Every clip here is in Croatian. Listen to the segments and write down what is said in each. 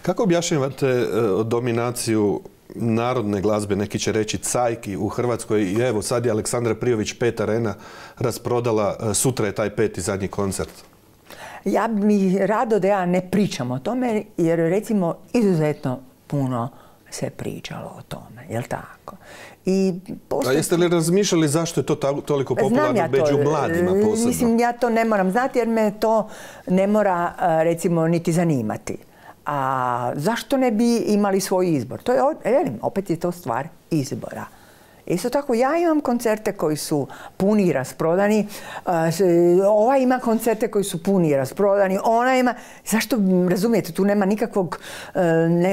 Kako objašnjavate dominaciju narodne glazbe, neki će reći cajki u Hrvatskoj i evo sad je Aleksandra Prijović 5 Arena rasprodala, sutra je taj 5. zadnji koncert? Ja bi rado da ja ne pričam o tome jer recimo izuzetno puno se pričalo o tome, jel tako? A jeste li razmišljali zašto je to toliko popularno među mladima posebno? Mislim, ja to ne moram znati jer me to ne mora recimo niti zanimati. A zašto ne bi imali svoj izbor? To je, opet je to stvar izbora. Isto tako, ja imam koncerte koji su puni i rasprodani, ova ima koncerte koji su puni i rasprodani, ona ima, zašto, razumijete, tu nema nikakvog,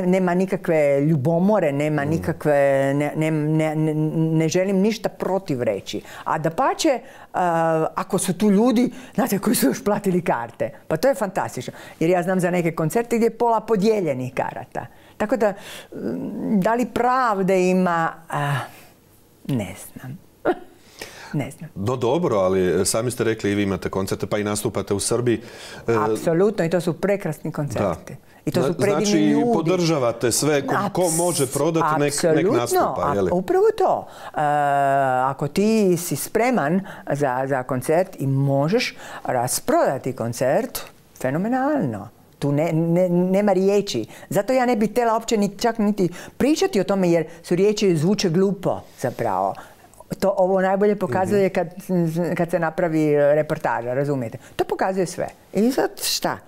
nema nikakve ljubomore, nema nikakve, ne želim ništa protiv reći. A dapače, ako su tu ljudi, znate, koji su još platili karte, pa to je fantastično. Jer ja znam za neke koncerte gdje je pola podijeljenih karata. Tako da, da li pravde ima... Ne znam. Ne znam. No dobro, ali sami ste rekli i vi imate koncerte pa i nastupate u Srbiji. Apsolutno, i to su prekrasni koncerti. I to su predivni ljudi. Znači podržavate sve, ko može prodati nek nastupa. Apsolutno, upravo to. Ako ti si spreman za koncert i možeš rasprodati koncert, fenomenalno. Tu nema riječi. Zato ja ne bih htjela uopće čak niti pričati o tome jer su riječi zvuče glupo zapravo. Ovo najbolje pokazuje kad se napravi reportaža, razumijete? To pokazuje sve. I sad šta?